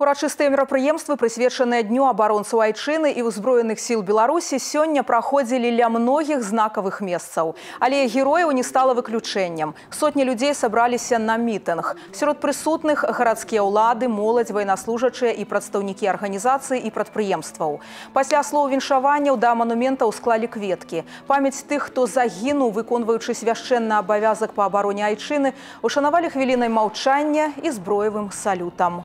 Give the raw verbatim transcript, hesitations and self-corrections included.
Урачыстыя мерапрыемствы, прысвечаныя Дню абаронцаў Айчыны і ўзброеных сіл Беларусі, сёння праходзілі ля многіх знакавых месцаў. Але герояў не стала выключэннем. Сотні людзей сабраліся на мітынг. Сярод прысутных гарадскія ўлады, моладзь, ваеннаслужачыя і прадстаўнікі арганізацый і прадпрыемстваў. Пасля слоў віншаванняў да манументаў склалі кветкі. Памяць тых, хто загінуў, выконваючы свяшчэнны абавязак па абароне Айчыны, ушанавалі хвілінай маўчання і зброевым салютам.